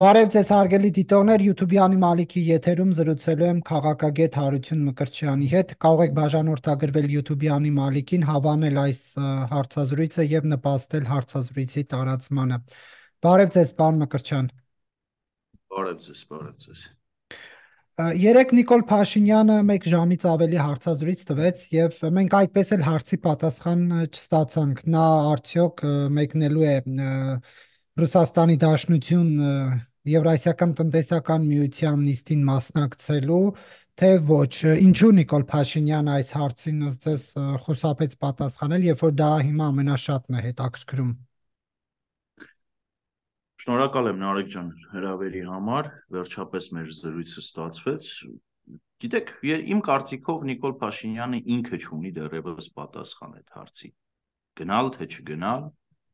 Բարև ձեզ հարգելի դիտողներ, YouTube-ի Մալիքի եթերում զրուցելու եմ քաղաքագետ Հարություն Մկրտչյանի հետ։ Կարող եք բաժանորդագրվել YouTube-ի Մալիքին, հավանել այս հարցազրույցը եւ նպաստել հարցազրույցի տարածմանը։ Բարև ձեզ, պարոն Մկրտչյան։ Բարև ձեզ, բարև ձեզ։ Երեք Նիկոլ Փաշինյանը 1 ժամից ավելի հարցազրույց տվեց եւ մենք այդպես էլ հարցի պատասխան չստացանք։ Նա արդյոք մեկնելու է Ռուսաստանի Դաշնություն Եվրասիական տնտեսական միության նիստին մասնակցելու, թե ոչ։ Ինչու Նիկոլ Փաշինյանը այս հարցին ձեզ խուսափեց պատասխանել, երբ որ դա հիմա ամենաշատն է հետաքրքրում։ Շնորհակալ եմ Նարեկ ջան հրավերի համար, վերջապես մեր զրույցը ստացվեց։ Գիտեք, իմ կարծիքով Նիկոլ Փաշինյանը ինքը չունի դեռևս պատասխան այդ հարցի։ Գնալ թե չգնալ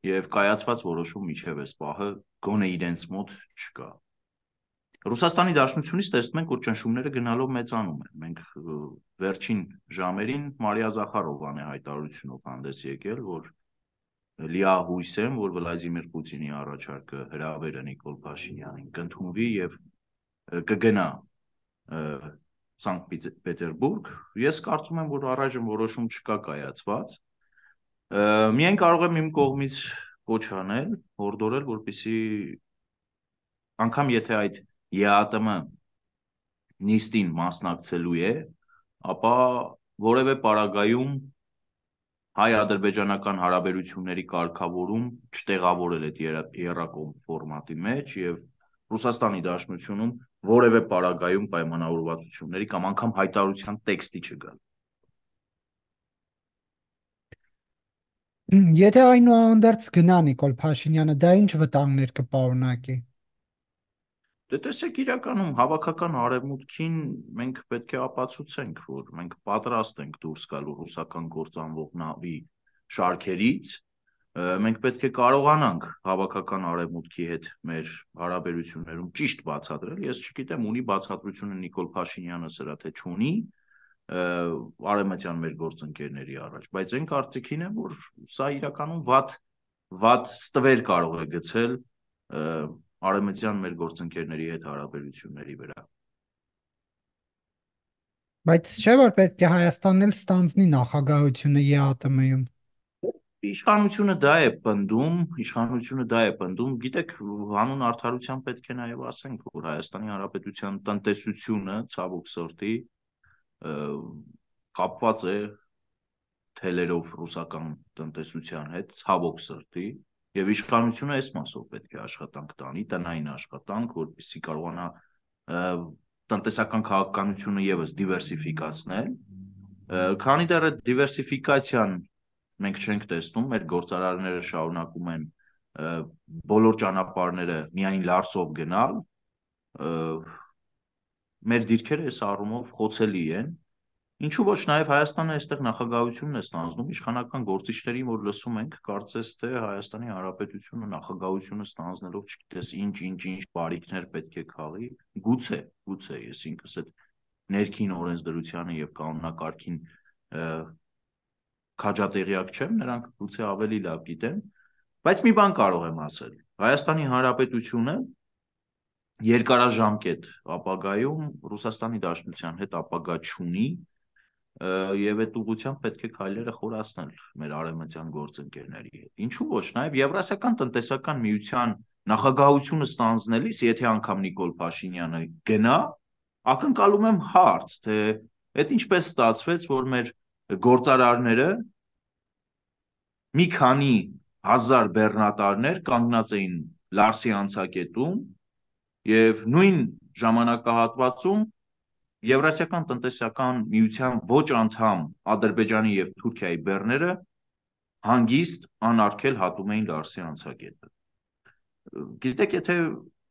եւ կայացված որոշում միջև այս պահը գոնե իրենց մոտ չկա։ Ռուսաստանի Դաշնությունից տեսնում ենք, որ ճնշումները գնալով մեծանում են։ Մենք վերջին ժամերին Մարիա Զախարովան է հայտարարությունով հանդես եկել, որ լիահույս եմ, որ Վլադիմիր Պուտինի առաջարկը հրավերը Նիկոլ Փաշինյանին կընդունվի եւ կգնա Սանկտ Պետերբուրգ։ Ես կարծում եմ, որ առայժմ որոշում չկա կայացված։ Միայն կարող եմ իմ կողմից կոչ անել, հորդորել, որպեսզի անգամ եթե այդ ԵԱՏՄ նիստին մասնակցելու է, ապա որևէ պարագայում հայ-ադրբեջանական հարաբերությունների կարգավորում չտեղավորել այդ եռակողմ ֆորմատի մեջ եւ Ռուսաստանի Դաշնությունում որևէ պարագայում պայմանավորվածությունների կամ անգամ հայտարարության տեքստի չգալ։ Եթե այնուհանդերձ գնա Նիկոլ Փաշինյանը, դա ինչ վտանգներ կպարունակի։ Դե տեսեք, իրականում հավաքական արևմուտքին մենք պետք է ապացուցենք, որ մենք պատրաստ ենք դուրս գալու ռուսական կործանվող նավի շարքերից, մենք պետք է կարողանանք հավաքական արևմուտքի հետ մեր հարաբերություններում ճիշտ բացատրել։ Ես չգիտեմ, ունի բացատրությունը Նիկոլ Փաշինյանը սրա թե չունի արևմտյան մեր գործընկերների առաջ, բայց այն կարծիքին եմ, որ սա իրականում վատ ստվեր կարող է գցել արևմտյան մեր գործընկերների հետ հարաբերությունների վրա։ Բայց չէ՞ որ պետք է Հայաստանն էլ ստանձնի նախագահությունը ԵԱՏՄ-ում։ Իշխանությունը դա է պնդում, գիտեք, հանուն արդարության պետք է նաև ասենք, որ Հայաստանի Հանրապետության տնտեսությունը ցավոք սրտի կապված է թելերով ռուսական տնտեսության հետ, ցավոք սրտի, եւ իշխանությունը այս մասով պետք է աշխատանք տանի, տնային աշխատանք, որպեսզի կարողանա տնտեսական քաղաքականությունը եւս դիվերսիֆիկացնել, քանի դեռ այդ դիվերսիֆիկացիան մենք չենք տեսնում, մեր գործարարները շարունակում են բոլոր ճանապարհները միայն լարսով գնալ, մեր դիրքերը այս առումով խոցելի են, ինչու ոչ նաև Հայաստանը այստեղ նախագահությունն է ստանձնում, իշխանական գործիչներին, որ լսում ենք, կարծես թե Հայաստանի Հանրապետությունը նախագահությունը ստանձնելով չգիտես ինչ բարիքներ պետք է քաղի, գուցե, ես ինքս այդ ներքին օրենսդրությանը եւ կանոնակարգին քաջատեղյակ չեմ, նրանք գուցե ավելի լավ գիտեն, բայց մի բան կարող եմ ասել. Հայաստանի Հանրապետությունը երկարաժամկետ ապագայում Ռուսաստանի Դաշնության հետ ապագա չունի եւ այդ ուղղությամբ պետք է քայլերը խորացնել մեր արևմտյան գործընկերների հետ։ Ինչու ոչ, նաեւ Եվրասիական տնտեսական միության նախագահությունը ստանձնելիս, եթե անգամ Նիկոլ Փաշինյանը գնա, ակնկալում եմ հարց, թե այդ ինչպես ստացվեց, որ մեր գործարարները մի քանի հազար բեռնատարներ կանգնած էին Լարսի անցակետում եւ նույն ժամանակահատվածում Եվրասիական տնտեսական միության ոչ անդամ Ադրբեջանի եւ Թուրքիայի բեռները հանգիստ անարգել հատում էին Լարսի անցակետը։ Գիտեք, եթե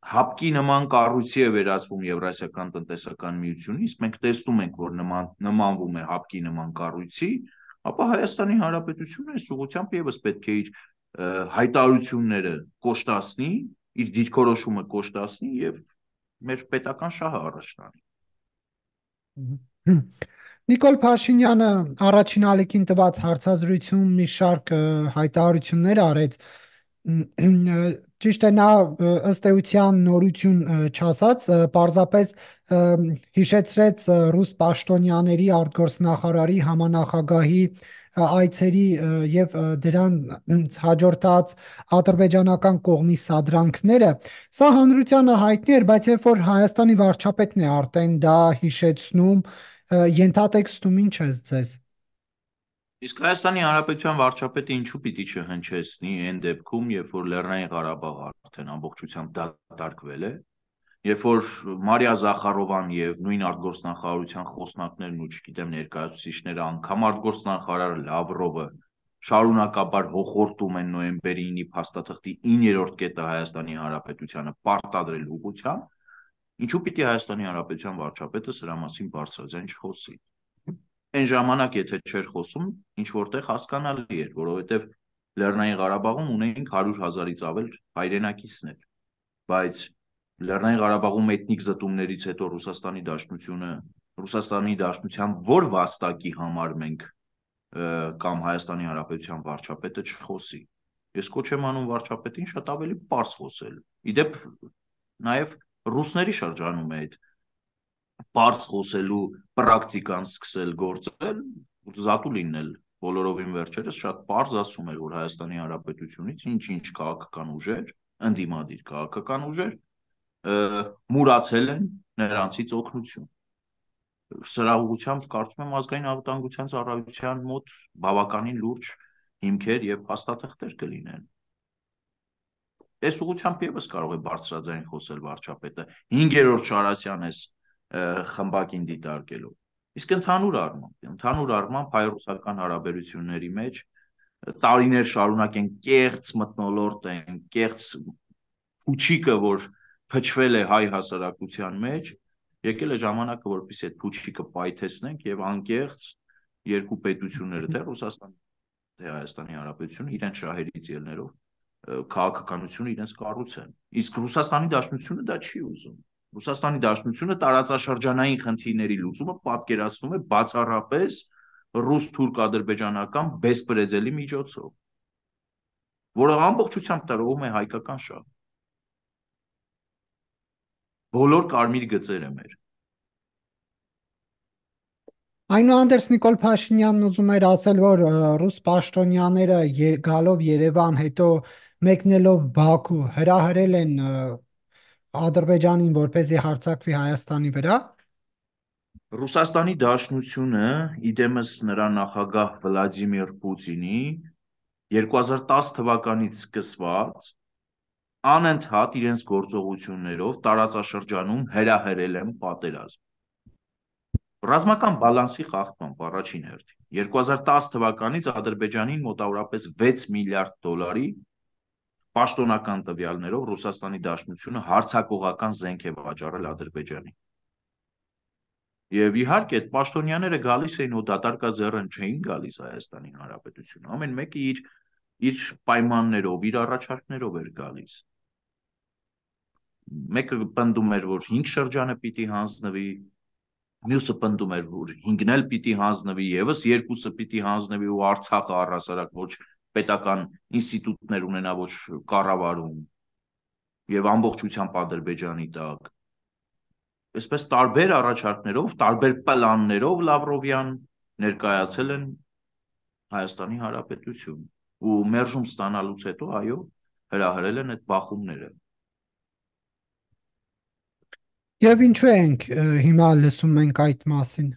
հապկի նման կառույցի է վերածվում Եվրասիական տնտեսական միությունից, մենք տեսնում ենք, որ նմանվում է հապկի նման կառույցի, ապա Հայաստանի Հանրապետությունը այս ուղղությամբ եւս պետք է իր հայտարարությունները կոշտացնի, իր դիրքորոշումը կոշտացնի եւ մեր պետական շահը առաջ տանի։ Նիկոլ Փաշինյանը առաջին ալիքին տված հարցազրույցում մի շարք հայտարարություններ արեց, ճիշտ է նա ըստ էության նորություն չասած, պարզապես հիշեցրեց ռուս պաշտոնյաների արտգործնախարարի համանախագահի այցերի եւ դրան հաջորդած ադրբեջանական կողմի սադրանքները, սա հանրությանը հայտնի էր, բայց երբ որ Հայաստանի վարչապետն է արդեն դա հիշեցնում, ենթատեքստում ինչ է ձեզ։ Իսկ Հայաստանի Հանրապետության վարչապետը ինչու պիտի չհնչեցնի այն դեպքում, երբ որ Լեռնային Ղարաբաղը արդեն ամբողջությամբ դատարկվել է, երբ որ Մարիա Զախարովան եւ նույն արտգործնախարարության խոսնակներն ու չգիտեմ ներկայացուցիչները անգամ արտգործնախարար Լավրովը շարունակաբար հոխորտում են նոյեմբերի 9-ի փաստաթղթի 9-րդ կետը Հայաստանի Հանրապետությանը պարտադրել ուղղությամբ, ինչու պիտի Հայաստանի Հանրապետության վարչապետը սրա մասին բարձրաձայն չխոսի։ Այն ժամանակ, եթե չէր խոսում, ինչ որտեղ հասկանալի էր, որովհետև Լեռնային Ղարաբաղում ունեինք 100,000-ից ավել հայրենակիցներ, բայց Լեռնային Ղարաբաղում էթնիկ զտումներից հետո Ռուսաստանի Դաշնության որ վաստակի համար մենք կամ Հայաստանի Հանրապետության վարչապետը չխոսի։ Ես կոչ եմ անում վարչապետին շատ ավելի պարզ խոսել։ Իդեպ նաև ռուսների շրջանում է այդ պարզ խոսելու պրակտիկան սկսել գործել, զատու լինել բոլորովին վերջերս շատ պարզ ասում էր, որ Հայաստանի Հանրապետությունից ինչ-ինչ քաղաքական ուժեր, ընդդիմադիր քաղաքական ուժեր մուրացել են նրանցից օգնություն։ Սրա ուղղությամբ կարծում եմ ազգային անվտանգության ծառայության մոտ բավականին լուրջ հիմքեր եւ փաստաթղթեր կլինեն։ Այս ուղղությամբ եւս կարող է բարձրաձայն խոսել վարչապետը 5-րդ Շարասյանես խմբակին դիտարկելով։ Իսկ ընդհանուր առմամբ հայ-ռուսական հարաբերությունների մեջ տարիներ շարունակ են կեղծ մթնոլորտ են, կեղծ փուչիկը, որ փչվել է հայ հասարակության մեջ, եկել է ժամանակը, որպեսզի այդ փուչիկը պայթեցնենք եւ անկեղծ երկու պետությունները, թե Ռուսաստանը, թե Հայաստանի Հանրապետությունը իրենց շահերից ելներով քաղաքականությունը իրենց կառուցեն։ Իսկ Ռուսաստանի Դաշնությունը դա չի ուզում։ Ռուսաստանի Դաշնությունը տարածաշրջանային խնդիրների լուծումը պատկերացնում է բացառապես ռուս-թուրք-ադրբեջանական բեսպրեդելի միջոցով, որը ամբողջությամբ տրվում է հայկական շահ։ Բոլոր կարմիր գծերը մեր։ Այնուհանդերձ Նիկոլ Փաշինյանն ուզում էր ասել, որ ռուս պաշտոնյաները գալով Երևան, հետո մեկնելով Բաքու հրահրել են Ադրբեջանին, որպեսզի հարձակվի Հայաստանի վրա։ Ռուսաստանի Դաշնությունը, իդեմս նրա նախագահ Վլադիմիր Պուտինի 2010 թվականից սկսված անընդհատ իրենց գործողություններով տարածաշրջանում հրահրել են պատերազմ։ Ռազմական բալանսի խախտմամբ առաջին հերթին 2010 թվականից Ադրբեջանին մոտավորապես 6 միլիարդ դոլարի պաշտոնական տվյալներով Ռուսաստանի Դաշնությունը հարձակողական զենք է վաճառել Ադրբեջանին։ Եվ իհարկե այդ պաշտոնյաները գալիս էին ու դատարկաձեռն չէին գալիս Հայաստանի Հանրապետություն։ Ամեն մեկը իր պայմաններով, իր առաջարկներով էր գալիս։ Մեկը պնդում էր, որ 5 շրջանը պիտի հանձնվի, մյուսը պնդում էր, որ 5-ն էլ պիտի հանձնվի, եւս 2-ը պիտի հանձնվի ու Արցախը առհասարակ ոչ պետական ինստիտուտներ ունենա, ոչ կառավարում եւ ամբողջությամբ Ադրբեջանի տակ։ Այսպես տարբեր առաջարկներով, տարբեր պլաններով Լավրովյան ներկայացել են Հայաստանի Հանրապետություն ու մերժում ստանալուց հետո, այո, հրահրել են այդ բախումները։ Եվ ինչու ենք հիմա լսում ենք այդ մասին։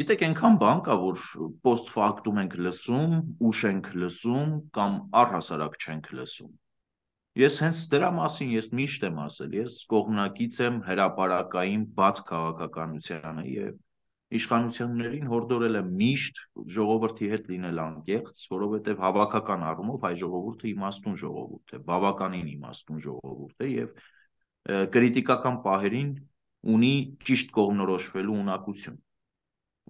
Գիտեք, այնքան բան կա, որ post factum ենք լսում, ուշ ենք լսում կամ առհասարակ չենք լսում։ Ես հենց դրա մասին միշտ եմ ասել, ես կողմնակից եմ հրապարակային բաց քաղաքականությանը եւ իշխանություններին հորդորել եմ միշտ ժողովրդի հետ լինել անկեղծ, որովհետեւ հավաքական առումով հայ ժողովուրդը իմաստուն ժողովուրդ է, բավականին իմաստուն ժողովուրդ է եւ կրիտիկական պահերին ունի ճիշտ կողմնորոշվելու ունակություն։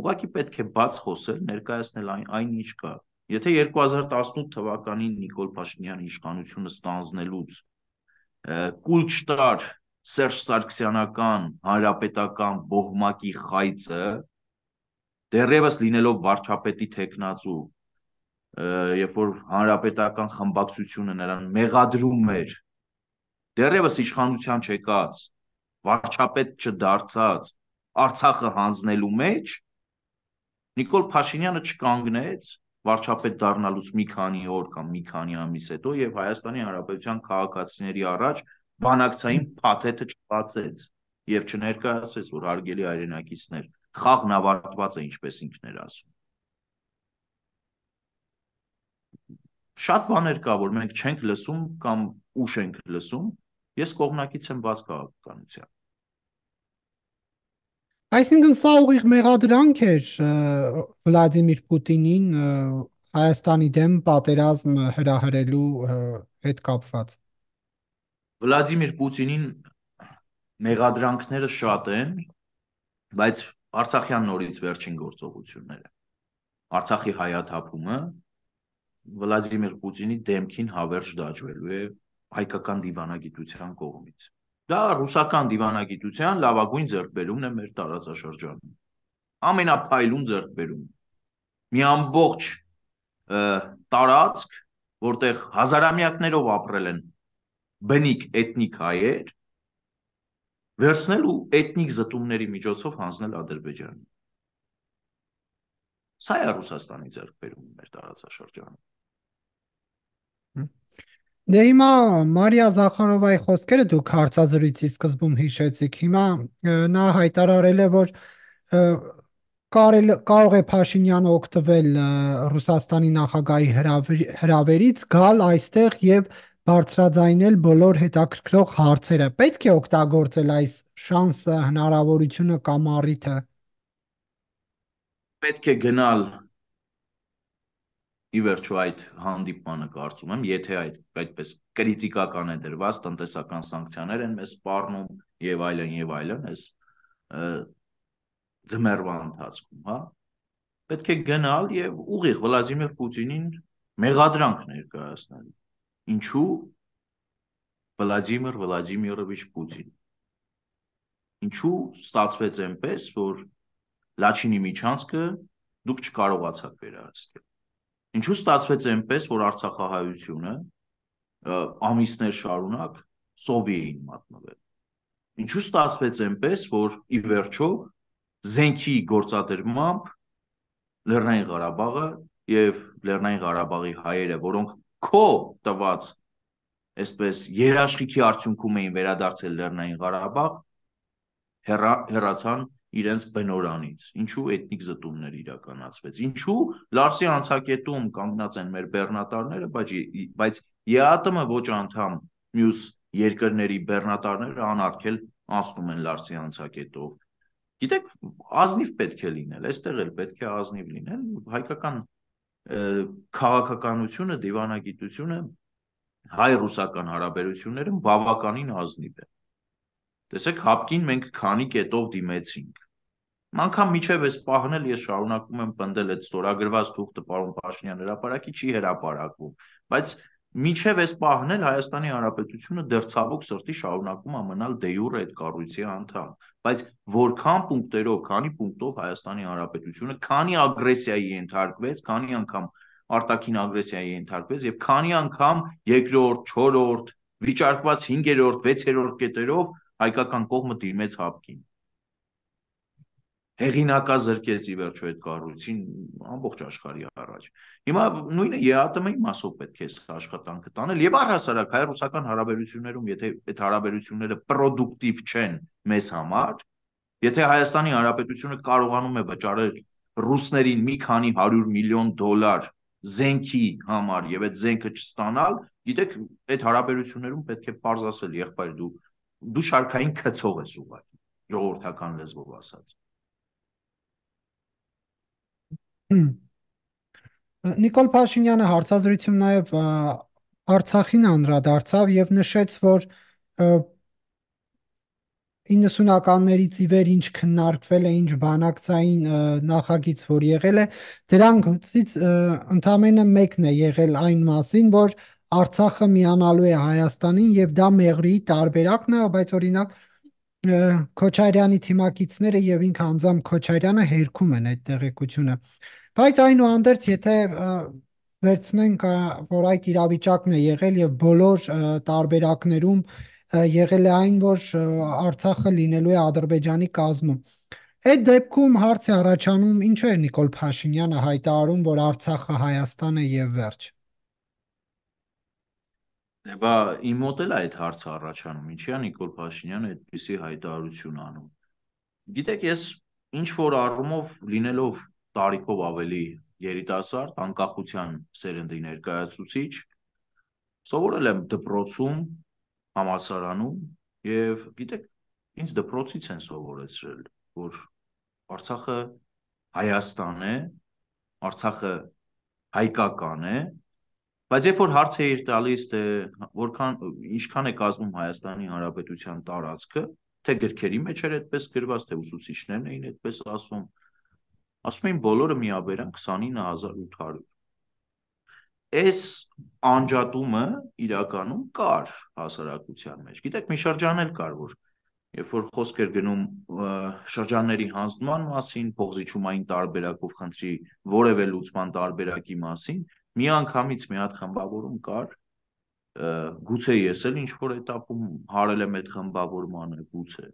Ուղղակի պետք է բաց խոսել, ներկայացնել այն ինչ կա։ Եթե 2018 թվականին Նիկոլ Փաշինյանի իշխանությունը ստանձնելուց կուլ չտար Սերժ Սարգսյանական հանրապետական ոհմակի խայծը, դեռևս լինելով վարչապետի թեկնածու, երբ որ հանրապետական խմբակցությունը նրան մեղադրում էր դեռևս իշխանության չեկած, վարչապետ չդարձած Արցախը հանձնելու մեջ, Նիկոլ Փաշինյանը չկանգնեց վարչապետ դառնալուց մի քանի օր կամ մի քանի ամիս հետո եւ Հայաստանի Հանրապետության քաղաքացիների առաջ բանակցային փաթեթը չբացեց եւ չներկայացրեց, որ հարգելի հայրենակիցներ, խաղն ավարտված է, ինչպես ինքն էր ասում։ Շատ բաներ կա, որ մենք չենք լսում կամ ուշ ենք լսում, ես կողմնակից եմ բաց քաղաքականության։ Այսինքն սա ուղիղ մեղադրանք էր Վլադիմիր Պուտինին Հայաստանի դեմ պատերազմ հրահրելու հետ կապված։ Վլադիմիր Պուտինին մեղադրանքները շատ են, բայց Արցախյան նորից վերջին գործողությունները, Արցախի հայաթափումը Վլադիմիր Պուտինի դեմքին հավերժ դաջվելու է հայկական դիվանագիտության կողմից։ Դա ռուսական դիվանագիտության լավագույն ձեռքբերումն է մեր տարածաշրջանում։ Ամենափայլուն ձեռքբերում։ Մի ամբողջ տարածք, որտեղ հազարամյակներով ապրել են բնիկ էթնիկ հայեր, վերցնել ու էթնիկ զտումների միջոցով հանձնել Ադրբեջանին։ Սա է Ռուսաստանի ձեռքբերումը մեր տարածաշրջանում։ Դե հիմա Մարիա Զախարովայի խոսքերը դուք հարցազրույցի սկզբում հիշեցիք։ Հիմա նա հայտարարել է, որ կարող է Փաշինյանը օգտվել Ռուսաստանի նախագահի հրավերից, գալ այստեղ եւ բարձրաձայնել բոլոր հետաքրքրող հարցերը։ Պետք է օգտագործել այս շանսը, հնարավորությունը կամ առիթը։ Պետք է գնալ ի վերջո այդ հանդիպմանը կարծում եմ, եթե այդպես կրիտիկական է դրված, տնտեսական սանկցիաներ են մեզ սպառնում եւ այլն, այս ձմեռվա ընթացքում, հա, պետք է գնալ եւ ուղիղ Վլադիմիր Պուտինին մեղադրանք ներկայացնել։ Ինչու Վլադիմիր Վլադիմիրովիչ Պուտին։ Ինչու ստացվեց այնպես, որ Լաչինի միջանցքը դուք չկարողացաք վերահսկել։ Ինչու ստացվեց այնպես, որ Արցախահայությունը ամիսներ շարունակ սովի էին մատնվել։ Ինչու ստացվեց այնպես, որ ի վերջո զենքի գործադրմամբ Լեռնային Ղարաբաղը եւ Լեռնային Ղարաբաղի հայերը, որոնք քո տված այսպես երաշխիքի արդյունքում էին վերադարձել Լեռնային Ղարաբաղ, հեռացան իրենց բնորանից, ինչու էթնիկ զտումներ իրականացվեց, ինչու Լարսի անցակետում կանգնած են մեր բեռնատարները, բայց ԵԱՏՄ ոչ անդամ մյուս երկրների բեռնատարները անարգել անցնում են Լարսի անցակետով։ Գիտեք, ազնիվ պետք է լինել, այստեղ էլ պետք է ազնիվ լինել, հայկական քաղաքականությունը, դիվանագիտությունը, հայ-ռուսական հարաբերությունները բավականին ազնիվ է։ Տեսեք, հապկին մենք քանի կետով դիմեցինք։ Անկամ միջև այս պահն էլ ես շարունակում եմ պնդել այդ ստորագրված թուղթը պարոն Փաշինյան հրապարակի չի հրապարակվում, բայց միջև այս պահն էլ Հայաստանի Հանրապետությունը դեռ ցավոք սրտի շարունակում է մնալ դե յուրե այդ կառույցի անդամ, բայց որքան պունկտերով, քանի պունկտով Հայաստանի Հանրապետությունը քանի ագրեսիայի ենթարկվեց, քանի անգամ արտաքին ագրեսիայի ենթարկվեց եւ քանի անգամ երկրորդ, չորրորդ, վիճարկված 5-րդ, 6-րդ կետերով հայկական կողմը դիմեց հապկին։ Հեղինակազրկեց ի վերջո այդ կառույցին ամբողջ աշխարհի առաջ։ Հիմա նույնը ԵԱՏՄ-ի մասով պետք է աշխատանքը տանել եւ առհասարակ հայ-ռուսական հարաբերություններում, եթե այդ հարաբերությունները պրոդուկտիվ չեն մեզ համար, եթե Հայաստանի Հանրապետությունը կարողանում է վճարել ռուսներին մի քանի 100 միլիոն դոլար զենքի համար եւ այդ զենքը չստանալ, գիտեք, այդ հարաբերություններում պետք է պարզ ասել, եղբայր դու շարքային քցող ես ուղղակի, ժողովրդական լեզվով ասած։ Նիկոլ Փաշինյանը հարցազրույցում նաև Արցախին անդրադարձավ եւ նշեց, որ 90-ականներից ի վեր ինչ քննարկվել է, ինչ բանակցային նախագիծ, որ եղել է, դրանցից ընդամենը մեկն է եղել այն մասին, որ Արցախը միանալու է Հայաստանին եւ դա մեղրիի տարբերակն է, բայց օրինակ Քոչարյանի թիմակիցները եւ ինքը անձամբ Քոչարյանը հերքում են այդ տեղեկությունը։ Բայց այնուհանդերձ, եթե վերցնենք, որ այդ իրավիճակն է եղել եւ բոլոր տարբերակներում եղել է այն, որ Արցախը լինելու է Ադրբեջանի կազմում։ Այդ դեպքում հարց է առաջանում, ինչու է Նիկոլ Փաշինյանը հայտարարում, որ Արցախը Հայաստան է եւ վերջ։ Դե բա իմ մոտ էլ է այդ հարցը առաջանում, ինչի է Նիկոլ Փաշինյանը այդպիսի հայտարարություն անում։ Գիտեք, ես ինչ որ առումով լինելով տարիքով ավելի երիտասարդ, անկախության սերնդի ներկայացուցիչ, սովորել եմ դպրոցում, համալսարանում եւ գիտեք, ինձ դպրոցից են սովորեցրել, որ Արցախը Հայաստան է, Արցախը հայկական է, բայց երբ որ հարց էիր տալիս, թե որքան ինչքան է կազմում Հայաստանի Հանրապետության տարածքը, թե գրքերի մեջ էր այդպես գրված, թե ուսուցիչներն էին այդպես ասում էին բոլորը միաբերան 29800։ Այս անջատումը իրականում կար հասարակության մեջ։ Գիտեք, մի շրջան էլ կար, որ երբ որ խոսք էր գնում շրջանների հանձնման մասին, փոխզիջումային տարբերակով խնդրի որևէ լուծման տարբերակի մասին, միանգամից մի հատ խմբավորում կար, գուցե ես էլ ինչ որ этаպում հարել եմ այդ խմբավորմանը, գուցե,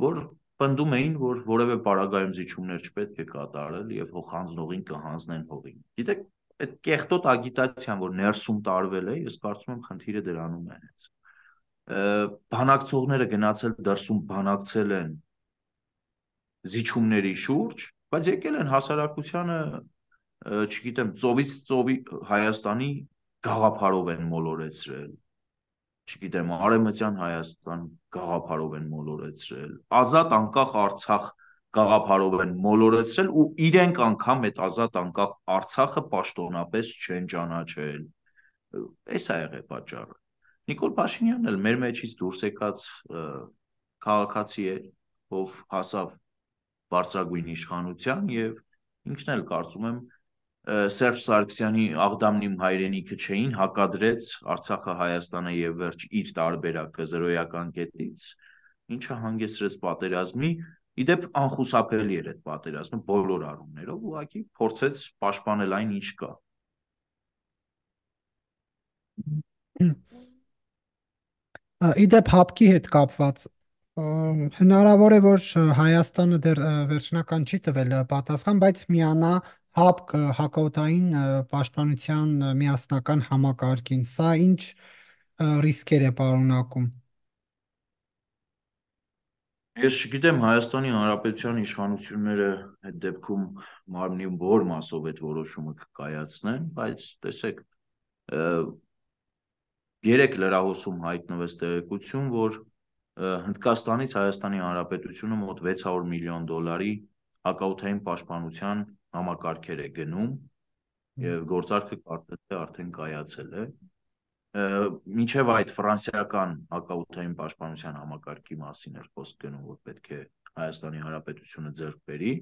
որ պնդում էին, որ որևէ պարագայում զիջումներ չպետք է կատարել եւ հոխանձնողին կհանձնեն հողին։ Գիտեք, այդ կեղտոտ ագիտացիան, որ ներսում տարվել է, ես կարծում եմ խնդիրը դրանում է հենց։ Բանակցողները գնացել դրսում բանակցել են զիջումների շուրջ, բայց եկել են հասարակությանը, չգիտեմ, ծովից ծովի Հայաստանի գաղափարով են մոլորեցրել, չգիտեմ, Արևմտյան Հայաստան գաղափարով են մոլորեցրել, ազատ անկախ Արցախ գաղափարով են մոլորեցրել ու իրենք անգամ այդ ազատ անկախ Արցախը պաշտոնապես չեն ճանաչել։ Էս է եղել պատճառը։ Նիկոլ Փաշինյանն էլ մեր մեջից դուրս եկած քաղաքացի է, ով հասավ բարձրագույն իշխանության եւ ինքն էլ կարծում եմ Սերժ Սարգսյանի Աղդամն իմ հայրենիքը չէին հակադրեց Արցախը Հայաստանը եւ վերջ իր տարբերակը զրոյական կետից, ինչը հանգեցրեց պատերազմի, իդեպ անխուսափելի էր այդ պատերազմը բոլոր առումներով, ուղղակի փորձեց պաշտպանել այն, ինչ կա։ Իդեպ հապկի հետ կապված հնարավոր է, որ Հայաստանը դեռ վերջնական չի տվել պատասխան, բայց միանա հապկ հակաօդային պաշտպանության միասնական համակարգին։ Սա ինչ ռիսկեր է պարունակում։ Ես չգիտեմ Հայաստանի Հանրապետության իշխանությունները այդ դեպքում մարմնի որ մասով այդ որոշումը կկայացնեն, բայց տեսեք, երեք լրահոսում հայտնվեց տեղեկություն, որ Հնդկաստանից Հայաստանի Հանրապետությունը մոտ 600 միլիոն դոլարի հակաօդային պաշտպանության համակարգեր է գնում եւ գործարքը կարծես թե արդեն կայացել է։ Մինչև այդ ֆրանսիական հակաօդային պաշտպանության համակարգի մասին էր խոսք գնում, որ պետք է Հայաստանի Հանրապետությունը ձեռք բերի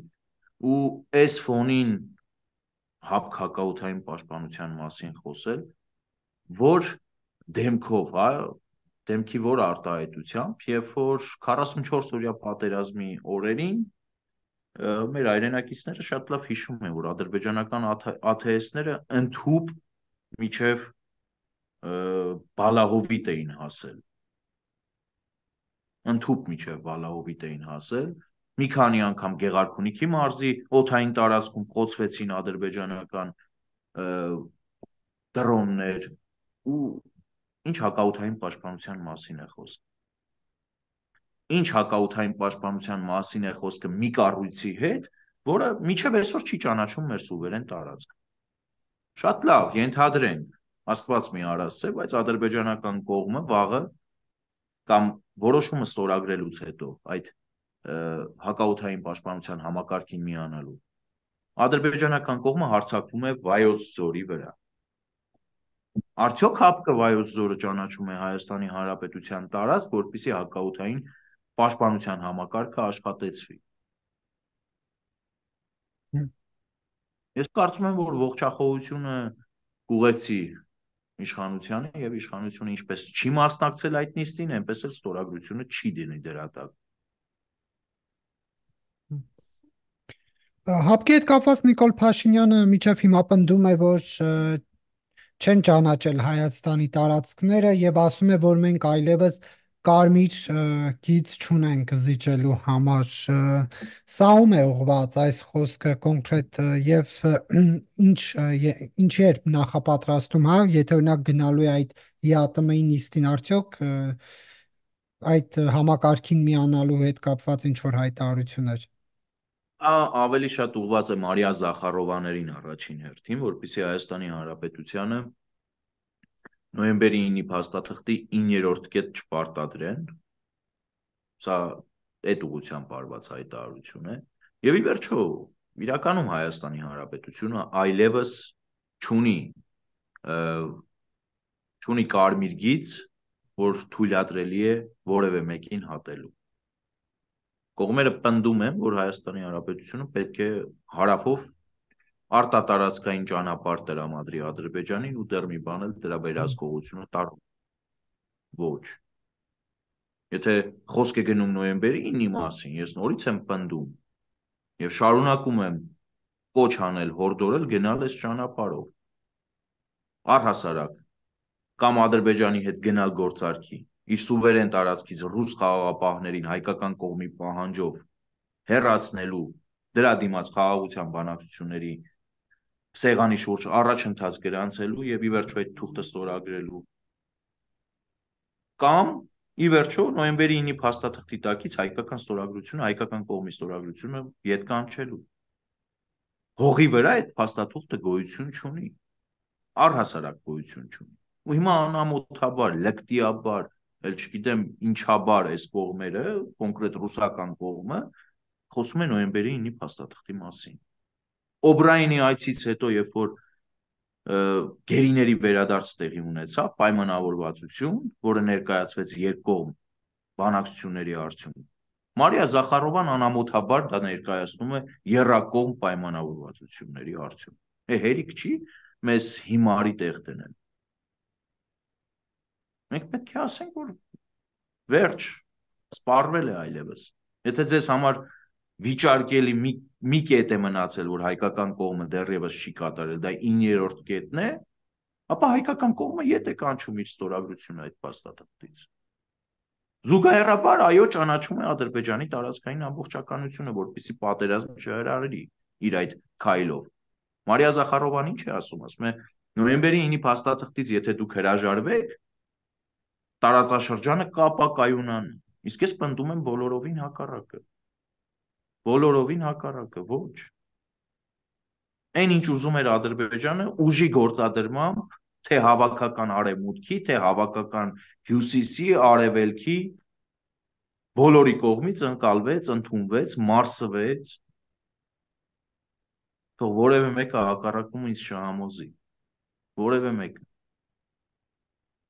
ու այս ֆոնին հապկ հակաօդային պաշտպանության մասին խոսել, որ դեմքով, հա, դեմքի որ արտահայտությամբ, երբ որ 44-օրյա պատերազմի օրերին մեր հայրենակիցները շատ լավ հիշում են, որ ադրբեջանական ԱԹՍ-ները ընդհուպ միջև Բալահովիտ էին հասել, ընդհուպ միջև Բալահովիտ էին հասել, մի քանի անգամ Գեղարքունիքի մարզի օդային տարածքում խոցվեցին ադրբեջանական դրոններ ու ինչ հակաօդային պաշտպանության մասին է խոսքը։ Ինչ հակաօդային պաշտպանության մասին է խոսքը մի կառույցի հետ, որը մինչև այսօր չի ճանաչում մեր սուվերեն տարածքը։ Շատ լավ, ենթադրենք, Աստված մի արասցե, բայց ադրբեջանական կողմը վաղը կամ որոշումը ստորագրելուց հետո այդ հակաօդային պաշտպանության համակարգին միանալու ադրբեջանական կողմը հարձակվում է Վայոց ձորի վրա։ Արդյոք հապկը Վայոց ձորը ճանաչում է Հայաստանի Հանրապետության տարածք, որպեսզի հակաօդային պաշտպանության համակարգը աշխատեցվի։ Ես կարծում եմ, որ ողջախոհությունը կուղեկցի իշխանությանը եւ իշխանությունը ինչպես չի մասնակցել այդ նիստին, այնպես էլ ստորագրությունը չի դնի դրա տակ։ Հապկի հետ կապված Նիկոլ Փաշինյանը միջև հիմա պնդում է, որ չեն ճանաչել Հայաստանի տարածքները եւ ասում է, որ մենք այլևս կարմիր գիծ չունենք զիջելու համար։ Սա ում է ուղված այս խոսքը կոնկրետ եւ ինչի էր նախապատրաստում, հա, եթե օրինակ գնալու է այդ ԵԱՏՄ-ի նիստին արդյոք այդ համակարգին միանալու հետ կապված ինչ որ հայտարարություններ։ Ավելի շատ ուղղված է Մարիա Զախարովաներին առաջին հերթին, որպեսզի Հայաստանի Հանրապետությանը նոյեմբերի 9-ի փաստաթղթի 9-րդ կետ չպարտադրեն։ Սա այդ ուղղությամբ արված հայտարարություն է։ Եվ ի վերջո, իրականում Հայաստանի Հանրապետությունը այլևս չունի չունի կարմիր գիծ, որ թույլատրելի է որևէ մեկին հատելու։ Կողմերը պնդում են, որ Հայաստանի Հանրապետությունը պետք է հարավով արտատարածքային ճանապարհ տրամադրի Ադրբեջանին ու դեռ մի բան էլ դրա վերահսկողությունը տարում։ Ոչ։ Եթե խոսք է գնում նոյեմբերի 9-ի մասին, ես նորից եմ պնդում եւ շարունակում եմ կոչ անել հորդորել գնալ այս ճանապարհով։ Առհասարակ կամ Ադրբեջանի հետ գնալ գործարքի իր սուվերեն տարածքից ռուս խաղաղապահներին հայկական կողմի պահանջով հեռացնելու դրա դիմաց խաղաղության բանակցությունների սեղանի շուրջ առաջընթաց գրանցելու եւ ի վերջո այդ թուղթը ստորագրելու կամ ի վերջո նոյեմբերի 9-ի փաստաթղթի տակից հայկական կողմի ստորագրությունը յետ կանչելու հողի վրա այդ փաստաթուղթը գոյություն չունի, առհասարակ գոյություն չունի։ Ու հիմա անամոթաբար, լկտիաբար, էլ չգիտեմ ինչաբար այս կողմերը, կոնկրետ ռուսական կողմը, խոսում է նոյեմբերի 9-ի փաստաթղթի մասին։ Օբրայինի այցից հետո, երբ որ գերիների վերադարձ տեղի ունեցավ, պայմանավորվածություն, որը ներկայացվեց երկկողմ բանակցությունների արդյունքում, Մարիա Զախարովան անամոթաբար դա ներկայացնում է եռակողմ պայմանավորվածությունների արդյունքում։ Հերիք չի մեզ հիմարի տեղ դնել։ Մենք պետք է ասենք, որ վերջ, սպառվել է այլևս։ Եթե ձեզ համար վիճարկելի մի կետ է մնացել, որ հայկական կողմը դեռևս չի կատարել, դա 9-րդ կետն է, ապա հայկական կողմը յետ է կանչում իր ստորագրությունը այդ փաստաթղթից։ Զուգահեռաբար այո ճանաչում է Ադրբեջանի տարածքային ամբողջականությունը, որպեսզի պատերազմ չհրահրի իր այդ քայլով։ Մարիա Զախարովան ինչ է ասում, ասում է նոյեմբերի 9-ի փաստաթղթից եթե դուք հրաժարվեք, տարածաշրջանը կապակայունանա։ Իսկ ես պնդում եմ բոլորովին հակառակը։ Բոլորովին հակառակը, ոչ։ Այն ինչ ուզում էր Ադրբեջանը ուժի գործադրմամբ, թե հավաքական արևմուտքի, թե հավաքական հյուսիսի, արևելքի, բոլորի կողմից ընկալվեց, ընդունվեց, մարսվեց, թող որևէ մեկը հակառակում ինձ չհամոզի, որևէ մեկը։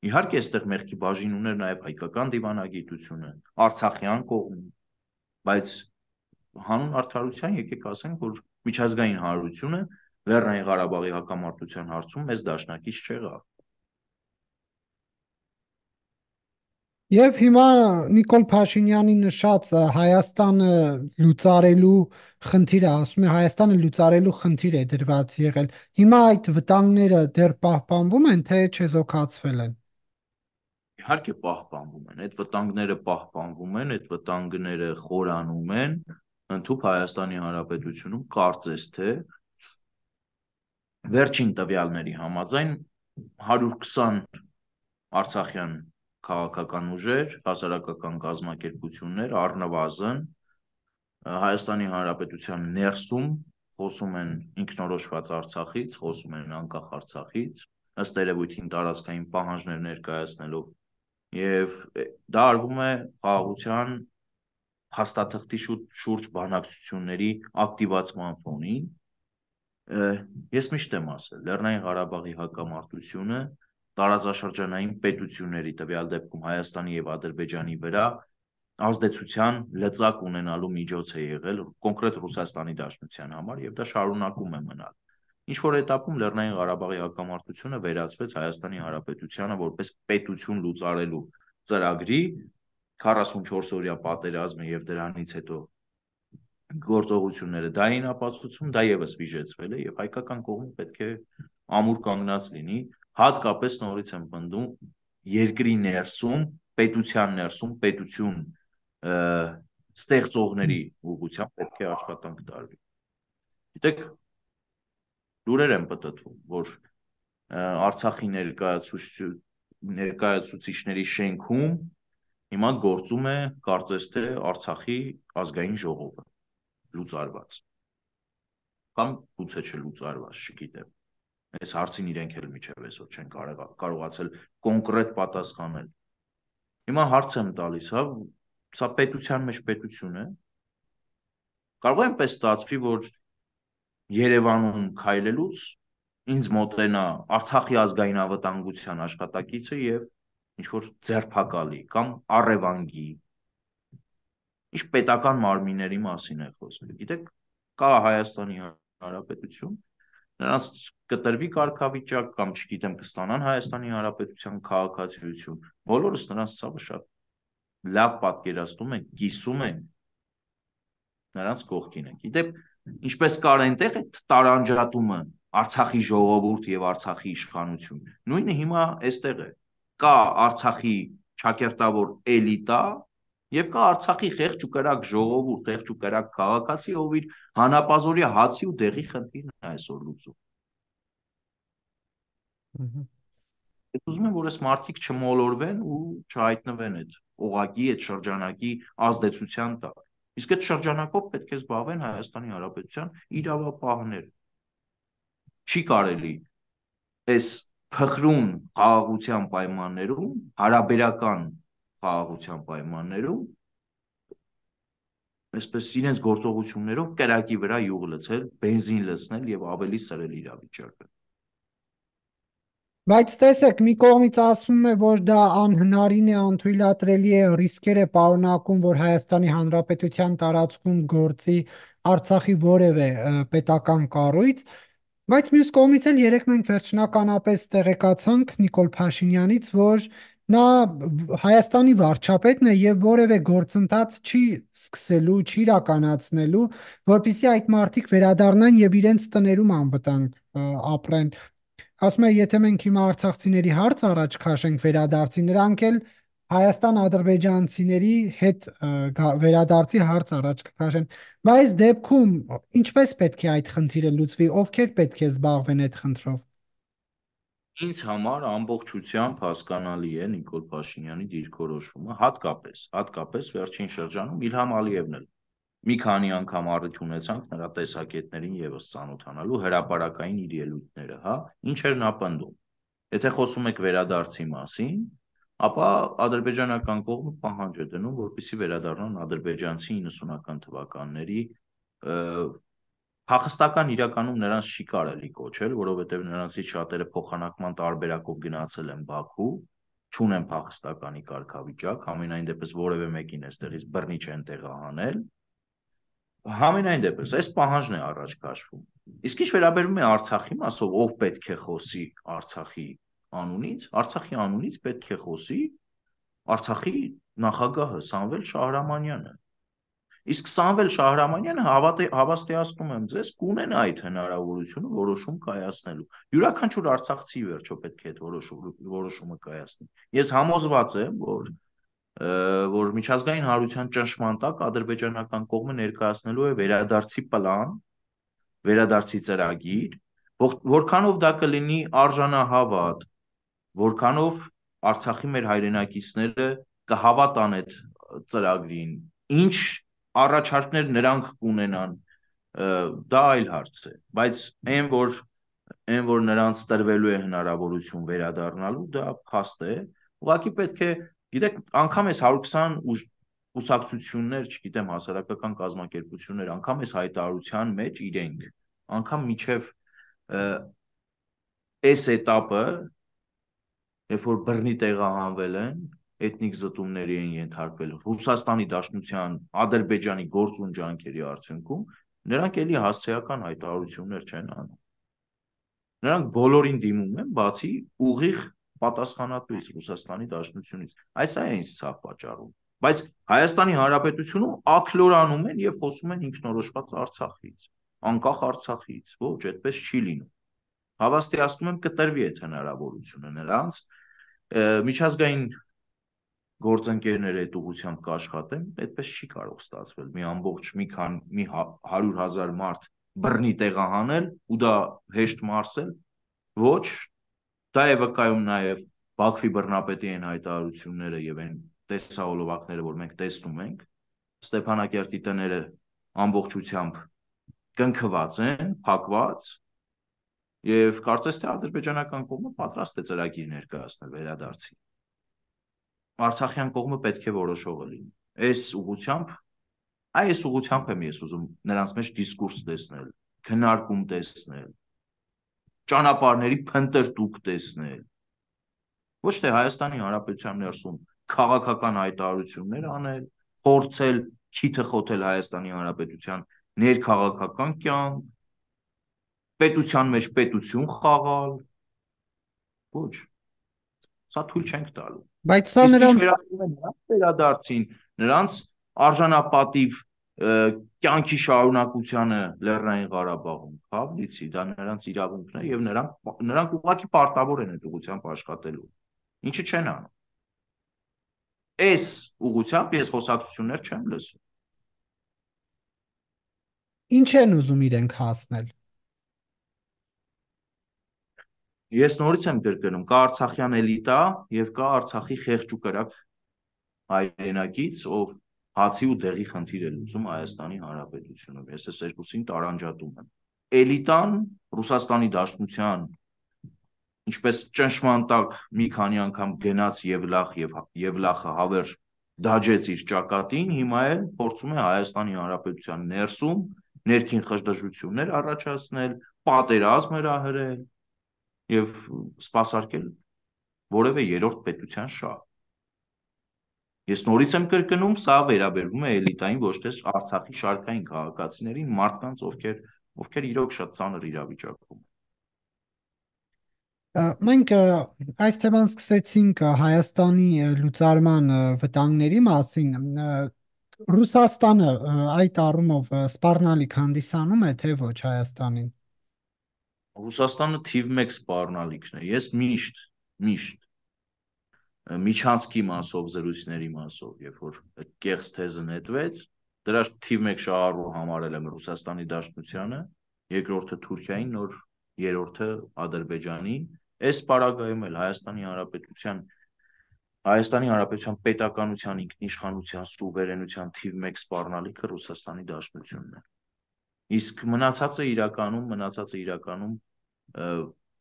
Իհարկե այստեղ մեղքի բաժին ուներ նաև հայկական դիվանագիտությունը, արցախյան կողմը, բայց հանուն արդարության եկեք ասենք, որ միջազգային հանրությունը Լեռնային Ղարաբաղի հակամարտության հարցում մեզ դաշնակից չեղավ։ Եվ հիմա Նիկոլ Փաշինյանի նշած Հայաստանը լուծարելու խնդիրը, ասում է Հայաստանը լուծարելու խնդիր է դրված եղել։ Հիմա այդ վտանգները դեռ պահպանվում են, թե չեզոքացվել են։ Իհարկե պահպանվում են, այդ վտանգները պահպանվում են, այդ վտանգները խորանում են, ընդհանուր Հայաստանի Հանրապետությունում կարծես թե վերջին տվյալների համաձայն 120 արցախյան քաղաքական ուժեր, հասարակական կազմակերպություններ առնվազն Հայաստանի Հանրապետության ներսում խոսում են ինքնորոշված Արցախից, խոսում են անկախ Արցախից, ըստ երևույթին տարածքային պահանջներ ներկայացնելով եւ դա արվում է խաղաղության հաստատղթի շուրջ բանակցությունների ակտիվացման ֆոնին։ Ես միշտ եմ ասել, Լեռնային Ղարաբաղի հակամարտությունը տարածաշրջանային պետությունների, տվյալ դեպքում Հայաստանի եւ Ադրբեջանի վրա ազդեցության լծակ ունենալու միջոց է եղել կոնկրետ Ռուսաստանի Դաշնության համար եւ դա շարունակում է մնալ։ Ինչ որ этаպում Լեռնային Ղարաբաղի հակամարտությունը վերածվեց Հայաստանի Հանրապետությանը որպես պետություն լուծարելու ծրագրի 44-օրյա պատերազմը եւ դրանից հետո գործողությունները դա էին ապացուցում, դա եւս վիժեցվել է եւ հայկական կողմը պետք է ամուր կանգնած լինի, հատկապես նորից եմ պնդում երկրի ներսում, պետության ներսում, պետություն ստեղծողների ուղղությամբ պետք է աշխատանք տարվի։ Գիտեք, լուրեր են պտտվում, որ Արցախի ներկայացուցիչների շենքում հիմա գործում է կարծես թե Արցախի ազգային ժողովը լուծարված կամ գուցե չլուծարված, չգիտեմ։ Այս հարցին իրենք էլ միջև այսօր չեն կարողացել կոնկրետ պատասխանել։ Հիմա հարց եմ տալիս, հա, սա պետության մեջ պետություն է։ Կարող է այնպես ստացվի, որ Երևանում քայլելուց ինձ մոտենա Արցախի ազգային անվտանգության աշխատակիցը եւ ինչ որ ձերբակալի կամ առևանգի։ Ինչ պետական մարմինների մասին է խոսքը։ Գիտեք, կա Հայաստանի Հանրապետություն, նրանց կտրվի կարգավիճակ կամ չգիտեմ կստանան Հայաստանի Հանրապետության քաղաքացիություն, բոլորս նրանց ցավը շատ լավ պատկերացնում ենք, կիսում ենք, նրանց կողքին ենք։ Գիտեք, ինչպես կար այնտեղ այդ տարանջատումը Արցախի ժողովուրդ եւ Արցախի իշխանություն, նույնը հիմա այստեղ է։ Կա Արցախի ճակերտավոր էլիտա եւ կա Արցախի խեղճ ու կրակ ժողովուրդ, խեղճ ու կրակ քաղաքացի, ով իր հանապազորյա հացի ու դեղի խնդիրն է այսօր լուծում։ Ես ուզում եմ, որ այս մարդիկ չմոլորվեն ու չհայտնվեն այդ օղակի, այդ շրջանակի ազդեցության տակ։ Իսկ այդ շրջանակով պետք է զբաղվեն Հայաստանի Հանրապետության իրավապահները։ Չի կարելի այս փխրուն խաղաղության պայմաններում, հարաբերական խաղաղության պայմաններում, այսպես իրենց գործողություններով կրակի վրա յուղ լցել, բենզին լցնել եւ ավելի սրել իրավիճակը։ Բայց տեսեք, մի կողմից ասվում է, որ դա անհնարին է, անթույլատրելի է, ռիսկեր է պարունակում, որ Հայաստանի Հանրապետության տարածքում գործի Արցախի որևէ պետական կառույց, բայց մյուս կողմից էլ երեք մենք վերջնականապես տեղեկացանք Նիկոլ Փաշինյանից, որ նա Հայաստանի վարչապետն է եւ որևէ գործընթաց չի սկսելու, չի իրականացնելու, որpիսի այդ մարդիկ վերադառնան եւ իրենց տներում անվտանգ ապրեն։ Ասում է, եթե մենք հիմա արցախցիների հարց առաջ քաշենք վերադարձի, նրանք էլ Հայաստան-ադրբեջանցիների հետ վերադարձի հարց առաջ կքաշեն։ Բայց դեպքում ինչպես պետք է այդ խնդիրը լուծվի, ովքեր պետք է զբաղվեն այդ խնդրով։ Ինձ համար ամբողջությամբ հասկանալի է Նիկոլ Փաշինյանի դիրքորոշումը, հատկապես վերջին շրջանում Իլհամ Ալիևն էլ մի քանի անգամ առիթ ունեցանք նրա տեսակետներին եւս ծանոթանալու հրապարակային իր ելույթները, հա, ինչ էր նա պնդում։ Եթե խոսում եք վերադարձի մասին, ապա ադրբեջանական կողմը պահանջ է դնում, որպեսզի վերադառնան ադրբեջանցի 90-ական թվականների փախստական իրականում նրանց չի կարելի կոչել, որովհետև նրանցից շատերը փոխանակման տարբերակով գնացել են Բաքու, չունեն փախստականի կարգավիճակ, համենայն դեպս որևէ մեկին այստեղից բռնի չեն տեղահանել։ Համենայն դեպս այս պահանջն է առաջ քաշվում։ Իսկ ինչ վերաբերում է Արցախի մասով, ով պետք է խոսի Արցախի անունից պետք է խոսի Արցախի նախագահը Սամվել Շահրամանյանը։ Իսկ Սամվել Շահրամանյանը հավաստիացնում եմ ձեզ, կունենա այդ հնարավորությունը որոշում կայացնելու։ Յուրաքանչյուր արցախցի վերջո պետք է այդ որոշումը կայացնի։ Ես համոզված եմ, որ միջազգային հանրության ճնշման տակ ադրբեջանական կողմը ներկայացնելու է վերադարձի պլան, վերադարձի ծրագիր, որքանով դա կլինի արժանահավատ, որքանով Արցախի մեր հայրենակիցները կհավատան այդ ծրագրին, ինչ առաջարկներ նրանք կունենան, դա այլ հարց է, բայց այն որ նրանց տրվելու է հնարավորություն վերադառնալու, դա փաստ է, ուղղակի պետք է, գիտեք, անգամ այս 120 կուսակցություններ, չգիտեմ, հասարակական կազմակերպություններ, անգամ այս հայտարարության մեջ իրենք, անգամ միջև այս էտապը, երբ որ բռնի տեղահանվել են, էթնիկ զտումների են ենթարկվել Ռուսաստանի Դաշնության, Ադրբեջանի գործուն ջանքերի արդյունքում, նրանք էլի հասցեական հայտարարություններ չեն անում։ Նրանք բոլորին դիմում են, բացի ուղիղ պատասխանատուից Ռուսաստանի Դաշնությունից։ Այս է ինձ ցավ պատճառում։ Բայց Հայաստանի Հանրապետությունում աքլորանում են եւ խոսում են ինքնորոշված Արցախից, անկախ Արցախից, ոչ, այդպես չի լինում։ Հավաստիացնում եմ կտրվի այդ հնարավորությունը նրանց միջազգային գործընկերները այդ ուղղությամբ կաշխատեն, այդպես չի կարող ստացվել մի ամբողջ մի 100,000 մարդ բռնի տեղահանել ու դա հեշտ մարսել, ոչ, դա է վկայում նաև Բաքվի բռնապետի այն հայտարարությունները եւ այն տեսահոլովակները, որ մենք տեսնում ենք, Ստեփանակերտի տները ամբողջությամբ կնքված են, փակված, եւ կարծես թե ադրբեջանական կողմը պատրաստ է ծրագիր ներկայացնել վերադարձի։ Արցախյան կողմը պետք է որոշողը լինի։ Այս ուղղությամբ եմ ես ուզում նրանց մեջ դիսկուրս տեսնել, քննարկում տեսնել, ճանապարհների փնտրտուք տեսնել։ Ոչ թե Հայաստանի Հանրապետության ներսում քաղաքական հայտարարություններ անել, փորձել քիթը խոթել Հայաստանի Հանրապետության ներքաղաքական կյանք, պետության մեջ պետություն խաղալ։ Ոչ, սա թույլ չենք տալու։ Բայց սա Իսկ ինչ նրանց վերաբերում է նրանց վերադարձին, նրանց արժանապատիվ կյանքի շարունակությանը Լեռնային Ղարաբաղում, հավլիցի, դա նրանց իրավունքն է եւ նրանք ուղղակի պարտավոր են այդ ուղղությամբ աշխատելու։ Ինչը չեն անում։ Այս ուղղությամբ ես խոսակցություններ չեմ լսում։ ինչ են ուզում իրենք հասնել։ Ես նորից եմ կրկնում, կա Արցախյան էլիտա եւ կա Արցախի խեղճ ու կրակ հայրենակից, ով հացի ու դեղի խնդիր է լուծում Հայաստանի Հանրապետությունում։ Ես այս երկուսին տարանջատում եմ։ Էլիտան Ռուսաստանի Դաշնության ինչպես ճնշման տակ մի քանի անգամ գնաց Եվլախը հավերժ դաջեց իր ճակատին, հիմա էլ փորձում է Հայաստանի Հանրապետության ներսում ներքին խժդժություններ առաջացնել, պատերազմ հրահրել եւ սպասարկել որևէ երրորդ պետության շահ։ Ես նորից եմ կրկնում, սա վերաբերվում է էլիտային, ոչ թե Արցախի շարքային քաղաքացիներին, մարդկանց, ովքեր իրոք շատ ծանր իրավիճակում են։ Մենք այս թեման սկսեցինք Հայաստանի լուծարման վտանգների մասին։ Ռուսաստանը այդ առումով սպառնալիք հանդիսանում է, թե ոչ Հայաստանին։ Ռուսաստանը թիվ 1 սպառնալիքն է։ Ես միշտ Միչանսկի մասով, զրույցների մասով, երբ որ այդ կեղծ թեզը նետվեց, դրա թիվ 1 շահառու համարել եմ Ռուսաստանի Դաշնությանը, երկրորդը Թուրքիային, նոր երրորդը Ադրբեջանին։ Այս պարագայում էլ Հայաստանի Հանրապետության պետականության ինքնիշխանության սուվերենության թիվ 1 սպառնալիքը Ռուսաստանի Դաշնությունն է։ Իսկ մնացածը իրականում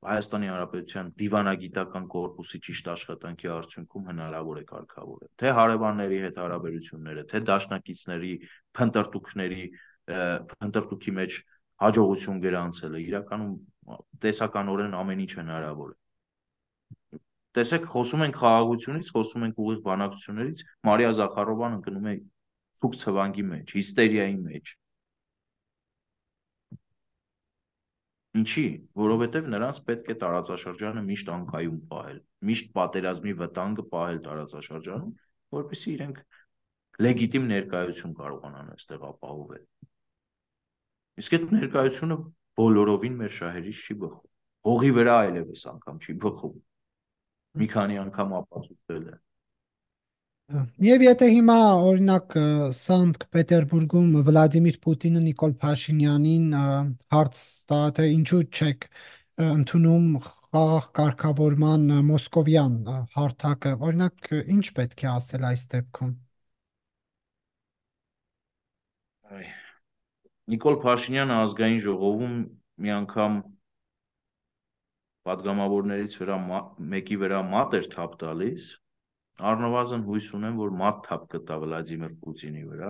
Հայաստանի Հանրապետության դիվանագիտական կորպուսի ճիշտ աշխատանքի արդյունքում հնարավոր է կարգավորել։ Թե հարևանների հետ հարաբերությունները, թե դաշնակիցների փնտրտուքի մեջ հաջողություն գրանցելը, իրականում տեսականորեն ամեն ինչ հնարավոր է։ Տեսեք, խոսում ենք խաղաղությունից, խոսում ենք ուղիղ բանակցություններից, Մարիա Զախարովան ընկնում է ցուկ ցվանգի մեջ, հիստերիայի մեջ։ Ինչի, որովհետև նրանց պետք է տարածաշրջանը միշտ անկայուն պահել, միշտ պատերազմի վտանգը պահել տարածաշրջանում, որպեսզի իրենք լեգիտիմ ներկայություն կարողանան այստեղ ապահովել։ Իսկ այդ ներկայությունը բոլորովին մեր շահերից չի բխում։ Հողի վրա այլևս անգամ չի բխում։ Մի քանի անգամ ապացուցվել է։ Եվ եթե հիմա օրինակ Սանկտ Պետերբուրգում Վլադիմիր Պուտինը Նիկոլ Փաշինյանին հարց տա, թե ինչու չեք ընդունում խաղաղ կարգավորման մոսկովյան հարթակը, օրինակ ինչ պետք է ասել այս դեպքում։ Նիկոլ Փաշինյանը ազգային ժողովում մի անգամ պատգամավորներից մեկի վրա մատ էր թափ տալիս, առնվազն հույս ունեմ, որ մատ թափ կտա Վլադիմիր Պուտինի վրա,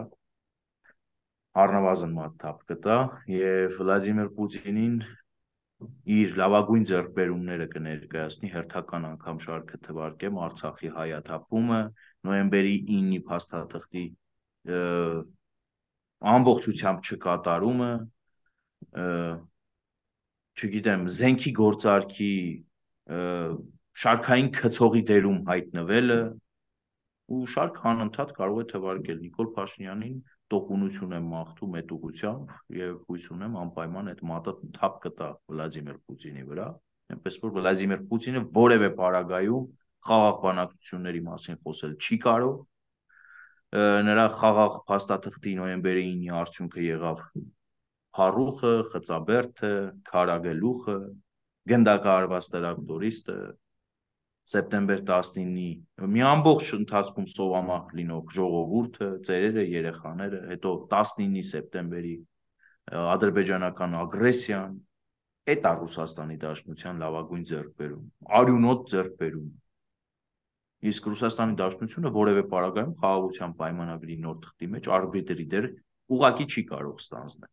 առնվազն մատ թափ կտա եւ Վլադիմիր Պուտինին իր լավագույն ձեռքբերումները կներկայացնի հերթական անգամ շարքը թվարկեմ Արցախի հայաթափումը, նոյեմբերի 9-ի փաստաթղթի ամբողջությամբ չկատարումը, չգիտեմ, զենքի գործարքի շարքային քցողի դերում հայտնվելը, ու շարք անընդհատ կարող է թվարկել Նիկոլ Փաշինյանին տոկունություն եմ մաղթում այդ ուղղությամբ եւ հույս ունեմ անպայման այդ մատը թափ կտա Վլադիմիր Պուտինի վրա, այնպես որ Վլադիմիր Պուտինը որևէ պարագայում խաղաղ բանակցությունների մասին խոսել չի կարող, նրա խաղաղ փաստաթղթի նոյեմբերի 9-ի արդյունքը եղավ Փառուխը, Խծաբերդը, Քարագելուխը, գնդակահարված տրակտորիստը, սեպտեմբեր 19-ի մի ամբողջ ընթացքում սովամահ լինող ժողովուրդը, ծերերը, երեխաները, հետո 19-ի սեպտեմբերի ադրբեջանական ագրեսիան, այդ է Ռուսաստանի Դաշնության լավագույն ձեռքբերում, արյունոտ ձեռքբերում։ Իսկ Ռուսաստանի Դաշնությունը որևէ պարագայում խաղաղության պայմանագրի նոր թղթի մեջ արբիտրի դեր ուղղակի չի կարող ստանձնել։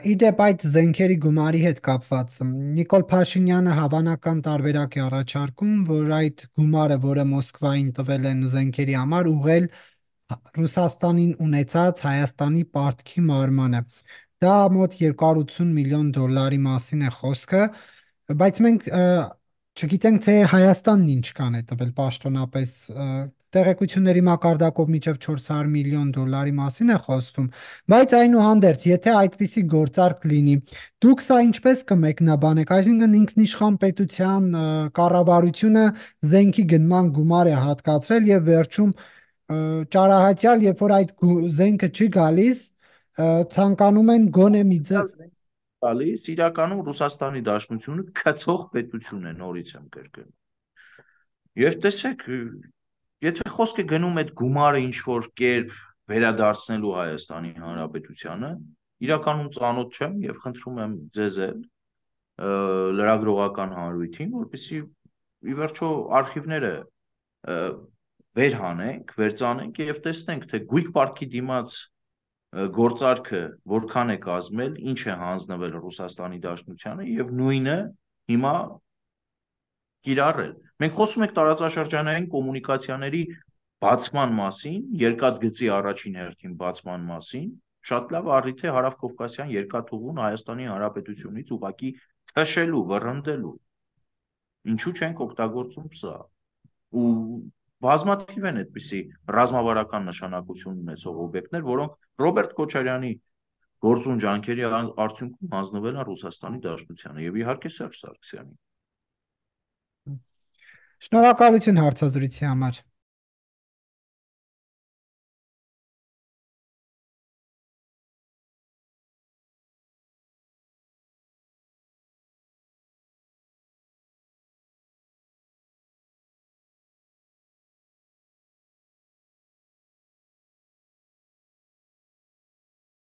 Իդեպ այդ զենքերի գումարի հետ կապված Նիկոլ Փաշինյանը հավանական տարբերակ է առաջարկում, որ այդ գումարը, որը Մոսկվային տվել են զենքերի համար, ուղղել Ռուսաստանին ունեցած Հայաստանի պարտքի մարմանը։ Դա մոտ 280 միլիոն դոլարի մասին է խոսքը, բայց մենք չգիտենք, թե Հայաստանն ինչ կան է տվել պաշտոնապես տեղեկությունների մակարդակով մինչև 400 միլիոն դոլարի մասին է խոսվում, բայց այնուհանդերձ, եթե այդպիսի գործարք լինի, դուք սա ինչպես կմեկնաբանեք, այսինքն ինքնիշխան պետության կառավարությունը զենքի գնման գումար է հատկացրել եւ վերջում ճարահատյալ, երբ որ այդ զենքը չի գալիս, ցանկանում են գոնե մի ձև Գալիս իրականում Ռուսաստանի Դաշնությունը քծող պետություն է, նորից եմ կրկնում։ Եվ տեսեք, եթե խոսք է գնում այդ գումարը ինչ որ կերպ վերադարձնելու Հայաստանի Հանրապետությանը, իրականում ծանոթ չեմ եւ խնդրում եմ ձեզ լրագրողական հանրույթին, որպեսզի ի վերջո արխիվները վերհանենք, վերծանենք եւ տեսնենք, թե գույք պարտքի դիմաց գործարքը որքան է կազմել, ինչ է հանձնվել Ռուսաստանի Դաշնությանը եւ նույնը հիմա կիրառել։ Մենք խոսում ենք տարածաշրջանային կոմունիկացիաների բացման մասին, երկաթգծի առաջին հերթին բացման մասին, շատ լավ առիթ է Հարավկովկասյան երկաթուղուն Հայաստանի Հանրապետությունից ուղղակի քշելու, վռնդելու։ Ինչու չենք օգտագործում սա։ Ու բազմաթիվ են այդպիսի ռազմավարական նշանակություն ունեցող օբյեկտներ, որոնք Ռոբերտ Քոչարյանի գործուն ջանքերի արդյունքում հանձնվել են Ռուսաստանի Դաշնությանը եւ իհարկե Սերժ Սարգսյանին։ Շնորհակալություն հարցազրույցի համար։